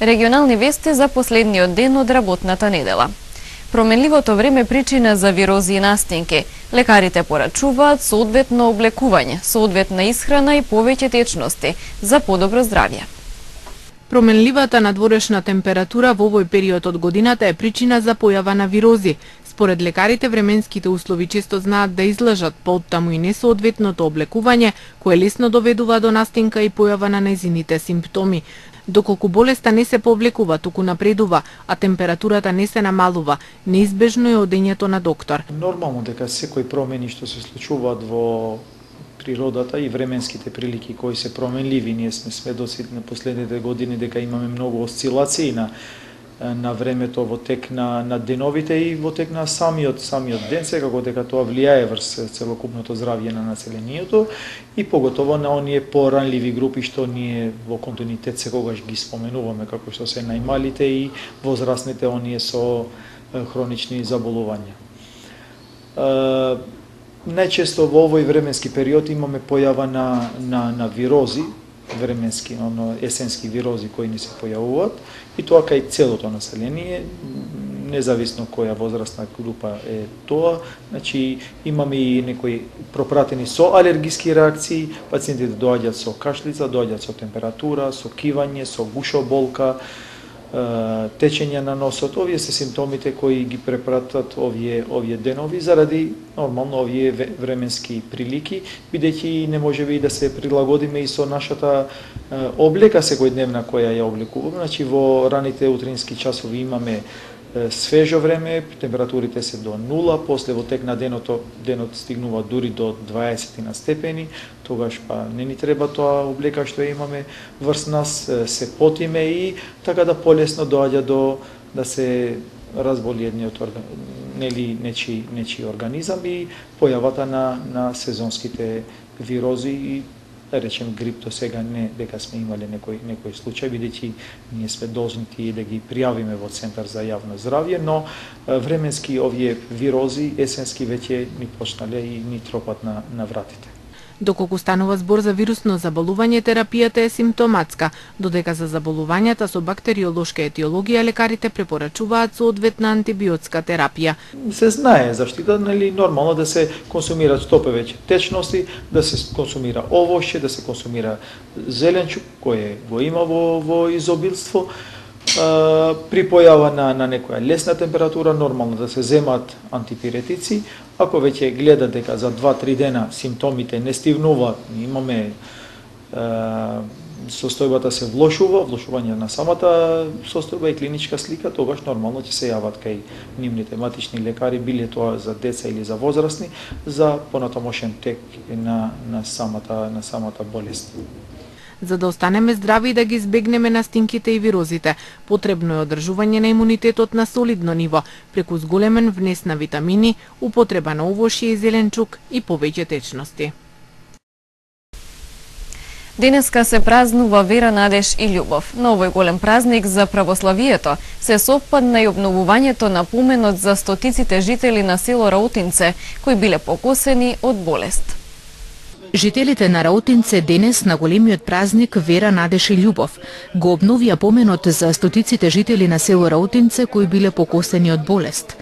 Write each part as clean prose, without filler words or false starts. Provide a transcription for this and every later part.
Регионални вести за последниот ден од работната недела. Променливото време причина за вирози и настинки. Лекарите порачуваат соодветно облекување, соодветна исхрана и повеќе течности за подобро здравје. Променливата надворешна температура во овој период од годината е причина за појава на вирози. Според лекарите, временските услови често знаат да излажат, поттаму и несоодветното облекување, кое лесно доведува до настинка и појава на нејзините симптоми. Доколку болеста не се повлекува, туку напредува, а температурата не се намалува, неизбежно е одењето на доктор. Нормално дека секои промени што се случуваат во природата и временските прилики кои се променливи, ние сме сведоци на последните години дека имаме многу осцилации на времето во тек на деновите и во тек на самиот ден, секако дека тоа влијае врз целокупното здравје на населението и поготово на оние поранливи групи што ние во континуитет секогаш ги споменуваме, како што се најмалите и возрастните, оние со хронични заболувања. Најчесто во овој временски период имаме појава на вирози, временски, есенски вирози кои ни се појавуваат, и тоа кај целото население, независно која возрастна група е тоа. Значи, имаме и некои пропратени со алергиски реакции, пациентите доаѓаат со кашлица, доаѓаат со температура, со кивање, со гушоболка, течење на носот. Овие се симптомите кои ги препратат овие денови заради нормално овие временски прилики, бидејќи не можеме и да се прилагодиме и со нашата облека секојдневна која ја облекуваме. Значи, во раните утрински часови имаме свежо време, температурите се до 0, после во тек на денот стигнува дури до 20 на степени, тогаш па не ни треба тоа облека што имаме врз нас, се потиме и така да полесно доаѓа да се разболи едниот нечи организам и појавата на сезонските вирози и да речем грип до сега не дека сме имале некој случај, бидејќи ние сме должни да ги пријавиме во Центар за јавно здравје, но временски овие вирози есенски веќе ни почнале и ни тропат на вратите. Доколку станува збор за вирусно заболување, терапијата е симптоматска, додека за заболувањата со бактериолошка етиологија лекарите препорачуваат соодветна антибиотска терапија. Се знае заштита, нормално да се консумираат што повеќе течности, да се консумира овошје, да се консумира зеленчук кој го има во изобилство. При појава на некоја лесна температура, нормално да се земат антипиретици. Ако веќе гледа дека за 2-3 дена симптомите не стивнуваат, имаме состојбата се влошување на самата состојба и клиничка слика, тогаш нормално ќе се јават кај нивните матични лекари, биле тоа за деца или за возрастни, за понатамошен тек на самата болест. За да останеме здрави и да ги избегнеме настинките и вирозите, потребно е одржување на имунитетот на солидно ниво, преку зголемен внес на витамини, употреба на овошје и зеленчук и повеќе течности. Денеска се празнува вера, надеж и љубов. На овој голем празник за православието се совпадна и обновувањето на поменот за стотиците жители на село Раутинце, кои биле покосени од болест. Жителите на Раутинце денес на големиот празник вера, надеж и љубов го обновија поменот за стотиците жители на село Раутинце кои биле покосени од болест.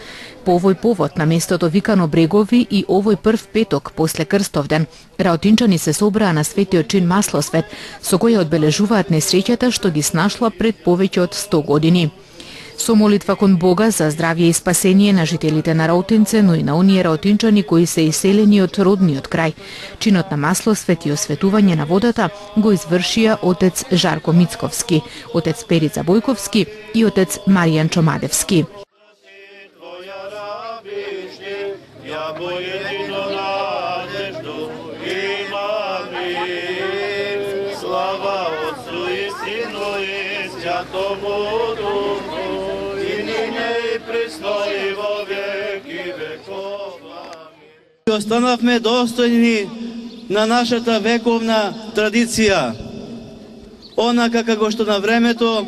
По овој повод, на местото викано Брегови и овој прв петок после Крстовден, раутинчани се собраа на светиот чин Маслосвет, со која одбележуваат несреќата што ги снашла пред повеќе од 100 години. Со молитва кон Бога за здравје и спасение на жителите на Раутинце, но и на оние раутинчани кои се иселени од родниот крај. Чинот на Маслосвет и осветување на водата го извршија отец Жарко Мицковски, отец Перица Бојковски и отец Маријан Чомадевски. Останавме достојни на нашата вековна традиција. Онака како што на времето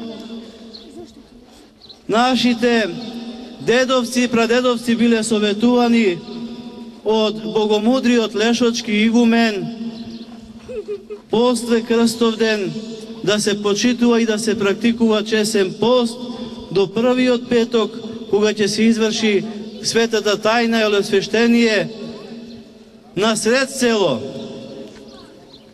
нашите дедовци и прадедовци биле советувани од богомудриот Лешочки игумен после Крстовден да се почитува и да се практикува чесен пост до првиот петок, кога ќе се изврши светата тајна или освештение на сред село.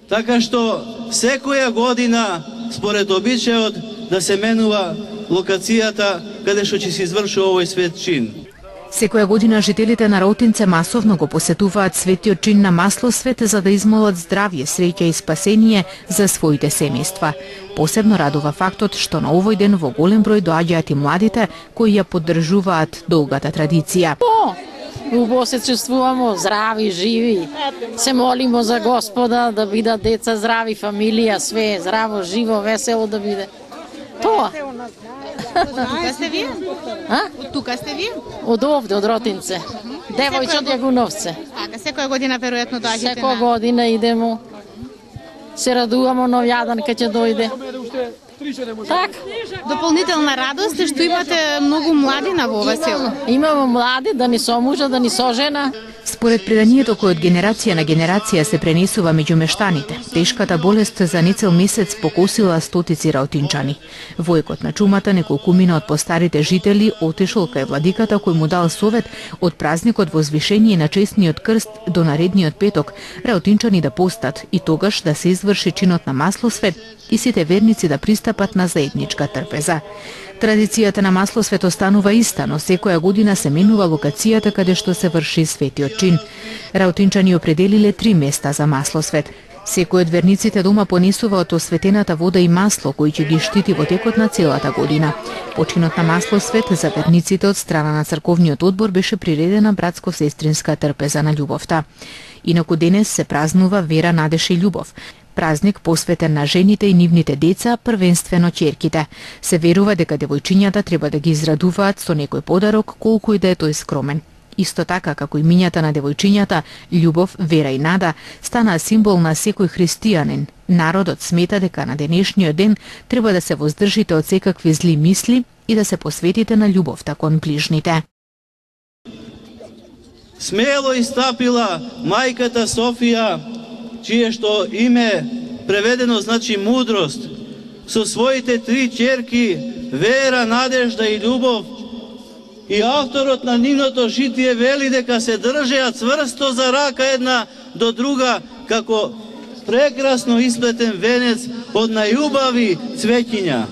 Така што секоја година, според обичајот, да се менува локацијата каде што ќе се изврши овој свет чин. Секоја година жителите на Раутинце масовно го посетуваат светиот чин на Маслосвет за да измолат здравје, среќа и спасение за своите семејства. Посебно радува фактот што на овој ден во голем број доаѓаат и младите кои ја поддржуваат долгата традиција. Убаво се чувствуваме здрави, живи. Се молимо за Господа да бидат деца здрави, фамилија, све здраво, живо, весело да биде. Тоа. Тука сте вие? Од тука сте вие? Од овде, од Ротинце. Девојче од Јагуновце. Така, секоја година веројатно доаѓате на... Секоја година идемо. Се радуваме нов јадан кога ќе дојде. Так. Дополнителна радост е што имате многу младина во ова село. Имаме млади, да ни со мужа, да ни со жена. Според преданието кој од генерација на генерација се пренесува меѓу мештаните, тешката болест за нецел месец покосила стотици раутинчани. Војкот на чумата неколкумина од постарите жители отишол кај владиката кој му дал совет од празникот возвишение на честниот крст до наредниот петок раутинчани да постат и тогаш да се изврши чинот на Маслосвет и сите верници да пристапат на заедничка трпеза. Традицијата на Маслосвет останува иста, но секоја година се менува локацијата каде што се врши светиот чин. Раутинчани определиле 3 места за Маслосвет. Секој од верниците дома понесува од осветената вода и масло кој ќе ги штити во текот на целата година. Починот на Маслосвет за верниците од страна на црковниот одбор беше приредена братско-сестринска трпеза на љубовта. Инаку денес се празнува Вера, надеж и љубов. Празник посветен на жените и нивните деца, првенствено ќерките. Се верува дека девојчињата треба да ги израдуваат со некој подарок, колку и да е тој скромен. Исто така, како и мињата на девојчињата, љубов, вера и нада стана символ на секој христијанин. Народот смета дека на денешниот ден треба да се воздржите од секакви зли мисли и да се посветите на љубовта кон ближните. Смело истапила мајката Софија, чие што име преведено значи мудрост, со своите 3 ќерки Вера, Надежда и Љубов, и авторот на нивното житие вели дека се држеа цврсто за рака една до друга, како прекрасно исплетен венец од најубави цвеќиња.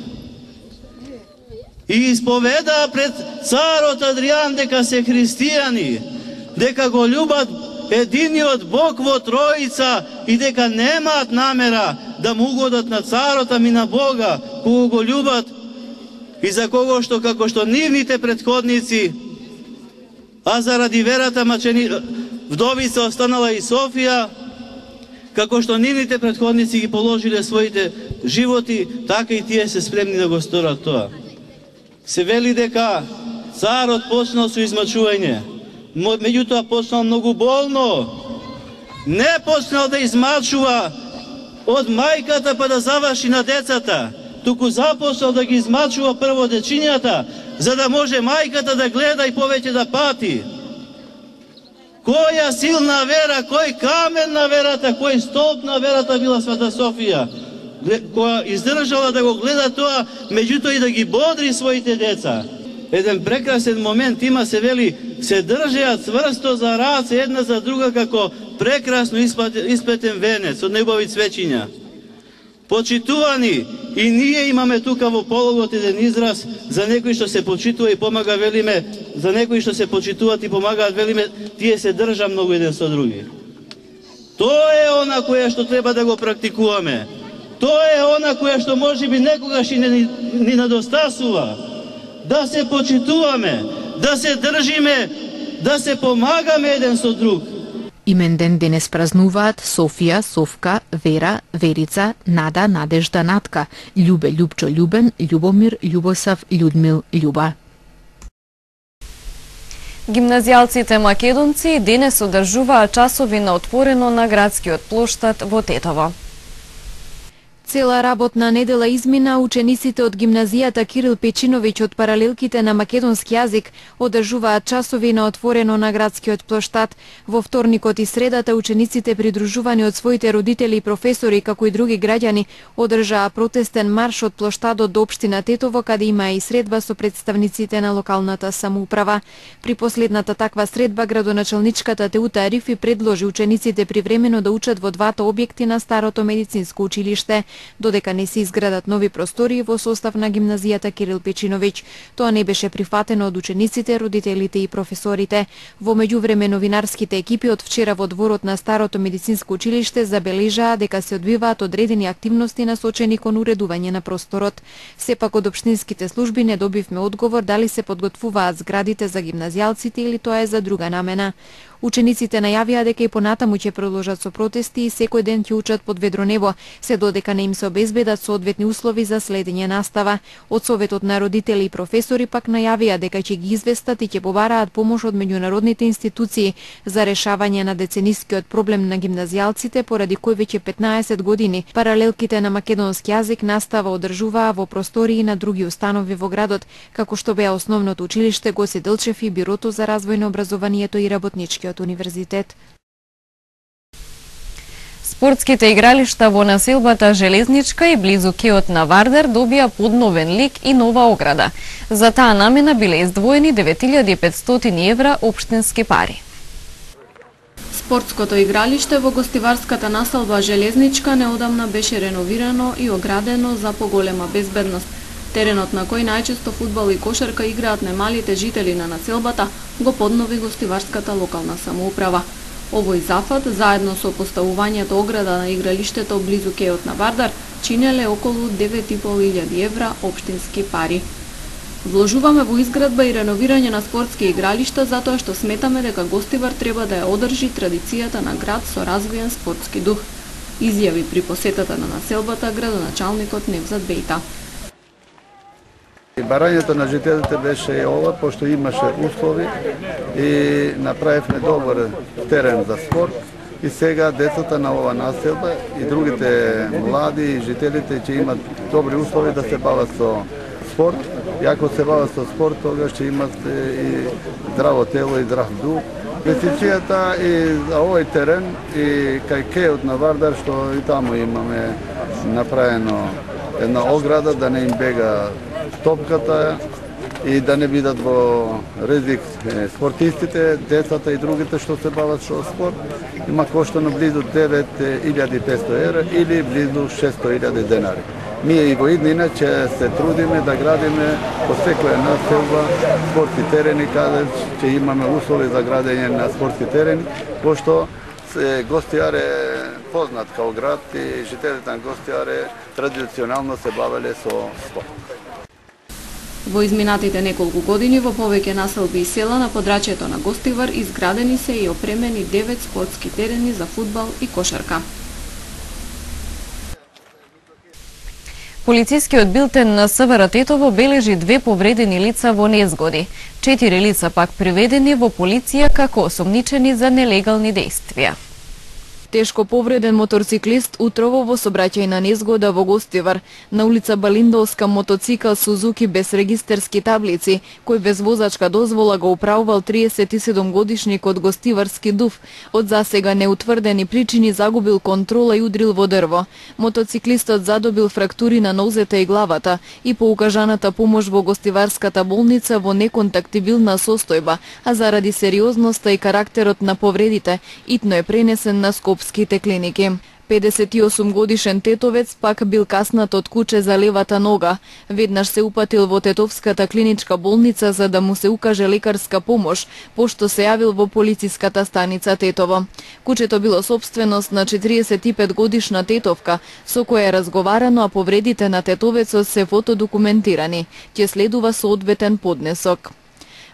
И исповедаа пред царот Адријан дека се христијани, дека го љубат единиот Бог во Троица и дека немаат намера да му угодат на царот, ами на Бога, кого го љубат и за кого што, како што нивните претходници, а заради верата вдовица останала и Софија, како што нивните претходници ги положиле своите животи, така и тие се спремни да го сторат тоа. Се вели дека царот почнал со измачување, меѓутоа почнал многу болно. Не почнал да измачува од мајката па да заврши на децата, туку започнал да ги измачува прво дечињата, за да може мајката да гледа и повеќе да пати. Која силна вера, кој камен на верата, кој столб на верата била Света Софија, која издржала да го гледа тоа, меѓутоа и да ги бодри своите деца. Еден прекрасен момент има, се вели, се држеа цврсто за раце една за друга како прекрасно исплетен венец од неубави цвеќиња. Почитувани, и ние имаме тука во пологот еден израз за некои што се почитува и помага, велиме, за некои што се почитуваат и помагаат, велиме, тие се држа многу еден со други. Тоа е она која што треба да го практикуваме. Тоа е она која што можеби некогаш и ни недостасува. Да се почитуваме, да се држиме, да се помагаме еден со друг. Именден денес празнуваат Софија, Совка, Вера, Верица, Нада, Надежда, Натка, Љубе, Љупчо, Љубен, Љубомир, Љубосав, Људмил, Љуба. Гимназијалците македонци денес одржуваат часови на отворено на градскиот плоштад во Тетово. Цела работна недела измина, учениците од гимназијата Кирил Печиновиќ од паралелките на македонски јазик одржуваат часови на отворено на градскиот плоштад. Во вторникот и средата учениците придружувани од своите родители и професори, како и други граѓани, одржаа протестен марш од плоштадот до општина Тетово, каде има и средба со представниците на локалната самоуправа. При последната таква средба градоначалничката Теута Арифи предложи учениците привремено да учат во двата објекти на старото медицинско училиште, додека не се изградат нови простории во состав на гимназијата Кирил Печиновиќ. Тоа не беше прифатено од учениците, родителите и професорите. Во меѓувреме новинарските екипи од вчера во дворот на старото медицинско училиште забележаа дека се одвиваат одредени активности насочени кон уредување на просторот. Сепак од општинските служби не добивме одговор дали се подготвуваат зградите за гимназијалците или тоа е за друга намена. Учениците најавија дека и понатаму ќе продолжат со протести и секој ден ќе учат под ведро небо, се додека не им се обезбедат соодветни услови за следење настава. Од Советот на родители и професори пак најавија дека ќе ги известат и ќе побараат помош од меѓународните институции за решавање на деценискиот проблем на гимназијалците, поради кој веќе 15 години паралелките на македонски јазик настава одржуваа во простории на други установи во градот, како што беа основното училиште Гоце Делчев и Бирото за развој на образованието и работничкиот универзитет. Спортските игралишта во населбата Железничка и близу кеот на Вардар добија подновен лик и нова ограда. За таа намена биле издвоени 9500 евра општински пари. Спортското игралиште во гостиварската населба Железничка неодамна беше реновирано и оградено за поголема безбедност. Теренот на кој најчесто фудбал и кошарка играат немалите жители на населбата го поднови гостиварската локална самоуправа. Овој зафат, заедно со поставувањето ограда на игралиштето близу кеот на Вардар, чинеле околу 9500 евра општински пари. Вложуваме во изградба и реновирање на спортски игралишта затоа што сметаме дека Гостивар треба да ја одржи традицијата на град со развиен спортски дух, изјави при посетата на населбата градоначалникот Невзат Бејта. Барањето на жителите беше и ова, пошто имаше услови и направивме добар терен за спорт. И сега децата на ова населба и другите млади и жителите ќе имат добри услови да се бават со спорт. И ако се бават со спорт, тогаш ќе имат и здраво тело и здрав дух. Инвестицијата и за овој терен и кај кеот на Вардар, што и таму имаме направено една ограда да не им бега топката и да не бидат во ризик спортистите, децата и другите што се бават со спорт. Има коштано близу 9500 евра или близу 600.000 денари. Ние и во иднина ќе се трудиме да градиме по секоја населба спортски терени, каде ќе имаме услови за градење на спортски терени, пошто Гостијар е познат као град и жителите на Гостијар традиционално се бавеле со спорт. Во изминатите неколку години во повеќе населби и села на подрачјето на Гостивар изградени се и опремени 9 спортски терени за фудбал и кошарка. Полицискиот билтен на СВР Тетово бележи 2 повредени лица во незгоди. 4 лица пак приведени во полиција како осомничени за нелегални дејствија. Тешко повреден моторциклист утрово во сообраќајна незгода во Гостивар. На улица Балиндовска мотоцикл Сузуки без регистерски таблици, кој без возачка дозвола го управувал 37-годишник од Гостиварски Дув. Од засега неутврдени причини загубил контрола и удрил во дрво. Мотоциклистот задобил фрактури на нозете и главата и по укажаната помош во Гостиварската болница во неконтактибилна состојба, а заради сериозноста и карактерот на повредите, итно е пренесен на скопските клиники. 58 годишен тетовец пак бил каснат од куче за левата нога. Веднаш се упатил во Тетовската клиничка болница за да му се укаже лекарска помош, пошто се јавил во полициската станица Тетово. Кучето било сопственост на 45 годишна тетовка, со која е разговарано, а повредите на тетовецот се фотодокументирани. Ќе следува соодветен поднесок.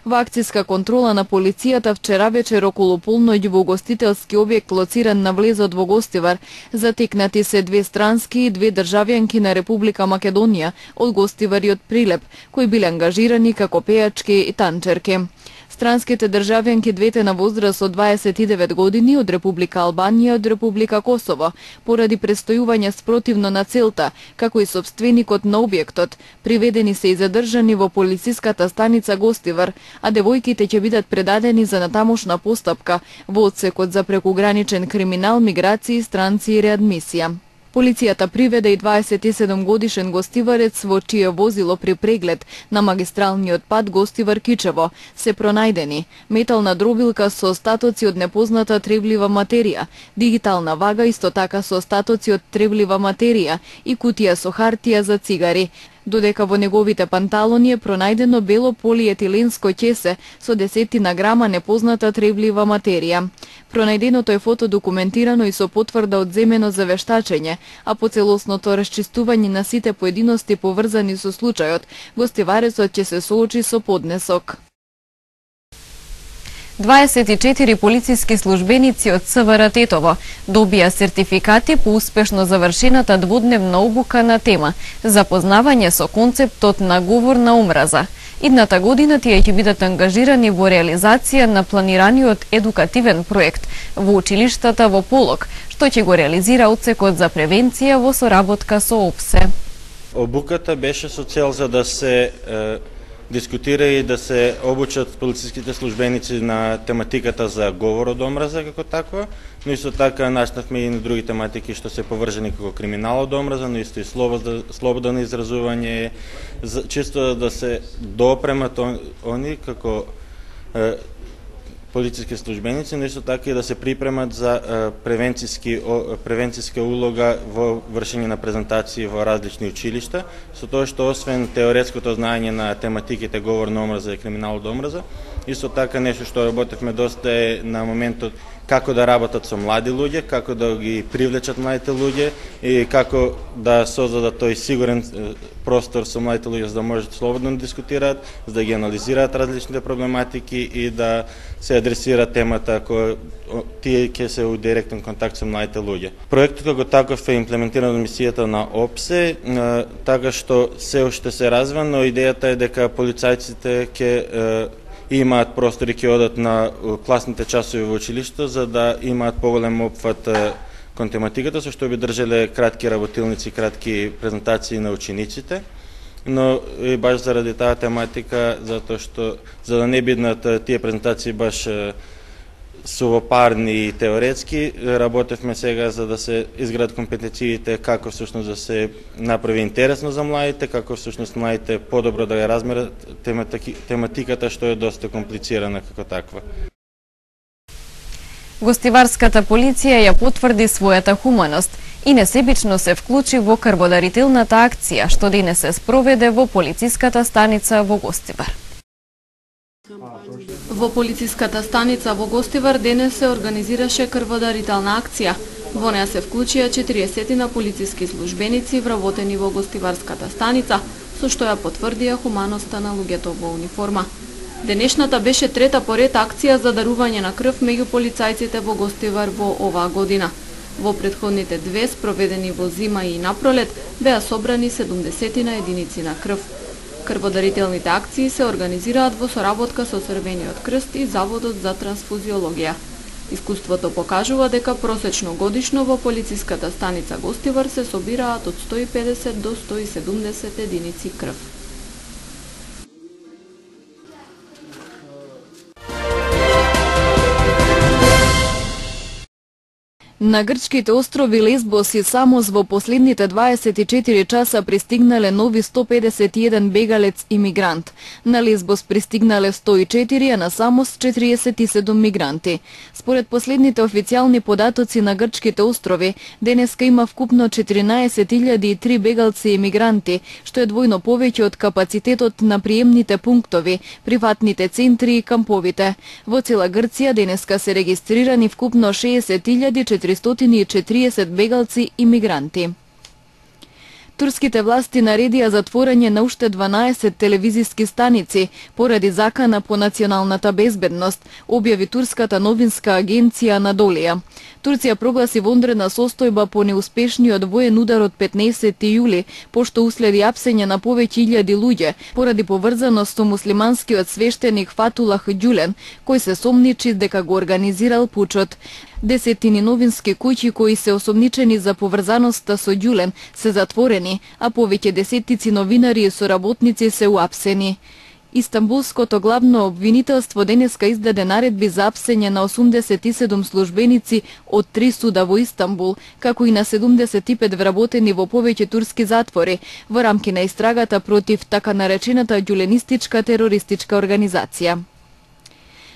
Во акцијска контрола на полицијата вчера вечер околу полноќ во гостителски објект лоциран на влезот во Гостивар затекнати се 2 странски и 2 државјанки на Република Македонија од Гостивар и од Прилеп, кои биле ангажирани како пејачки и танчерки. Странските државјанки двете на возраст од 29 години од Република Албанија и од Република Косово, поради престојување спротивно на целта, како и сопственикот на објектот, приведени се и задржани во полициската станица Гостивар, а девојките ќе бидат предадени за натамошна постапка во одсекот за прекуграничен криминал, миграции, странци и реадмисија. Полицијата приведе и 27 годишен гостиварец во чие возило при преглед на магистралниот пат Гостивар-Кичево се пронајдени метална дробилка со остатоци од непозната тревлива материја, дигитална вага исто така со остатоци од тревлива материја и кутија со хартија за цигари, додека во неговите панталони е пронајдено бело полиетиленско ќесе со десетина грама непозната тревлива материја. Пронајденото е фотодокументирано и со потврда одземено за вештачење, а по целосното расчистување на сите поединости поврзани со случајот, гостиварецот ќе се соочи со поднесок. 24 полициски службеници од СВР Тетово добија сертификати по успешно завршената двудневна обука на тема запознавање со концептот на говор на омраза. Идната година тие ќе бидат ангажирани во реализација на планираниот едукативен проект во училиштата во Полог, што ќе го реализира одсекот за превенција во соработка со ОПСЕ. Обуката беше со цел за да се дискутира и да се обучат полициските службеници на тематиката за говор од омраза како таква, но исто така начнавме и на други тематики што се поврзани како криминал од омраза, но исто и слободно изразување, чисто да се допремат они како полициски службеници, но исто така и да се припремат за превенциска улога во вршење на презентации во различни училишта, со тоа што освен теоретското знаење на тематиките говор на омраза и криминал од омраза, исто така нешто што работевме доста е на моментот како да работат со млади луѓе, како да ги привлечат младите луѓе и како да создадат тој сигурен простор со младите луѓе за да можат слободно да дискутираат, за да ги анализираат различните проблематики и да се адресира темата која тие ќе се у директен контакт со младите луѓе. Проектот како таков е имплементиран од мисијата на ОПСЕ, така што се уште се развива, но идејата е дека полицајците ќе имаат простори, ќе одат на класните часови во училишто, за да имаат поголем опфат кон тематиката, со што би држале кратки работилници, кратки презентации на учениците, но и баш заради таа тематика, затоа што за да не бидат тие презентации баш сувопарни и теоретски, работевме сега за да се изградат компетенциите како всушност да се направи интересно за младите, како всушност младите подобро да ја размерат тематиката што е доста комплицирана како таква. Гостиварската полиција ја потврди својата хуманост и несебично се вклучи во крводарителната акција што денес се спроведе во полициската станица во Гостивар. Во полициската станица во Гостивар денес се организираше крводарителна акција. Во неа се вклучија 40 полициски службеници вработени во Гостиварската станица, со што ја потврдија хуманоста на луѓето во униформа. Денешната беше трета поред акција за дарување на крв меѓу полицајците во Гостивар во оваа година. Во претходните две, спроведени во зима и напролет, беа собрани 70 единици на крв. Крводарителните акции се организираат во соработка со Црвениот крст и Заводот за трансфузиологија. Искуството покажува дека просечно годишно во полициската станица Гостивар се собираат од 150 до 170 единици крв. На грчките острови Лесбос и Самос во последните 24 часа пристигнале нови 151 бегалец и мигрант. На Лесбос пристигнале 104, а на Самос 47 мигранти. Според последните официјални податоци на грчките острови, денеска има вкупно 14.003 бегалци и мигранти, што е двојно повеќе од капацитетот на приемните пунктови, приватните центри и камповите. Во цела Грција денеска се регистрирани вкупно 60.440 бегалци и мигранти. Турските власти наредија затворање на уште 12 телевизиски станици поради закана по националната безбедност, објави турската новинска агенција Анадолија. Турција прогласи вонредна состојба по неуспешниот воен удар од 15 јули, пошто уследи апсење на повеќе илјади луѓе поради поврзаност со муслиманскиот свештеник Фатулах Ѓулен, кој се сомничи дека го организирал пучот. Десетини новински куќи кои се осомничени за поврзаноста со Ѓулен се затворени, а повеќе десетици новинари и соработници се уапсени. Истанбулското главно обвинителство денеска издаде наредби за апсење на 87 службеници од 3 суда во Истанбул, како и на 75 вработени во повеќе турски затвори во рамки на истрагата против така наречената ѓуленистичка терористичка организација.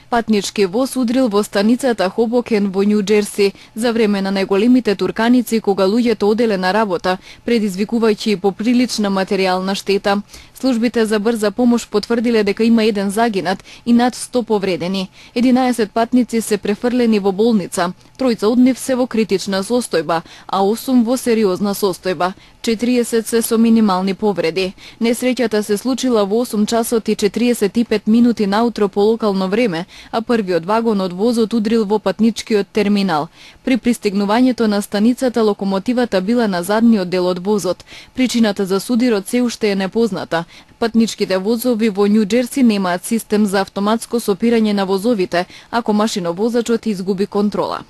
Патнички воз удрил во станицата Хобокен во Њу Џерси за време на најголемите турканици кога луѓето оделе на работа, предизвикувајќи поприлична материјална штета. Службите за брза помош потврдиле дека има 1 загинат и над 100 повредени. 11 патници се префрлени во болница, 3 од нив се во критична состојба, а 8 во сериозна состојба. 40 се со минимални повреди. Несреќата се случила во 8 часот и 45 минути наутро по локално време, а првиот вагон од возот удрил во патничкиот терминал. При пристигнувањето на станицата локомотивата била на задниот дел од возот. Причината за судирот се уште е непозната. Патничките возови во Њу Џерси немаат систем за автоматско сопирање на возовите, ако машиновозачот изгуби контрола.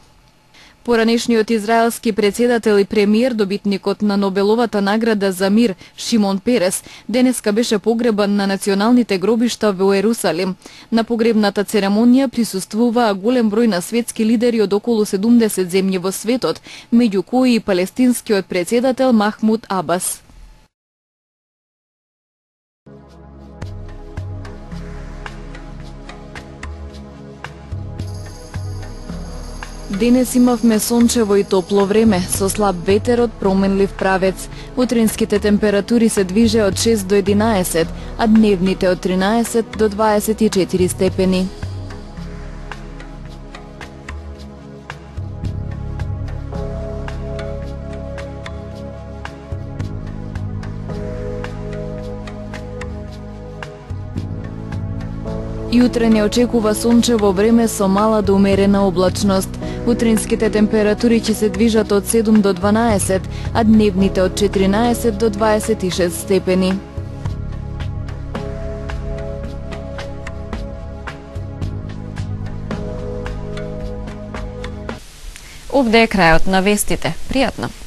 Поранешниот израелски председател и премиер, добитникот на Нобеловата награда за мир Шимон Перес, денеска беше погребан на националните гробишта во Ерусалим. На погребната церемонија присуствуваа голем број на светски лидери од околу 70 земји во светот, меѓу кои и палестинскиот председател Махмуд Абас. Денес имавме сончево и топло време, со слаб ветер од променлив правец. Утринските температури се движе од 6 до 11, а дневните од 13 до 24 степени. Јутре не очекува сончево време со мала до умерена облачност. Утринските температури ќе се движат од 7 до 12, а дневните од 14 до 26 степени. Овде е крајот на вестите. Пријатно!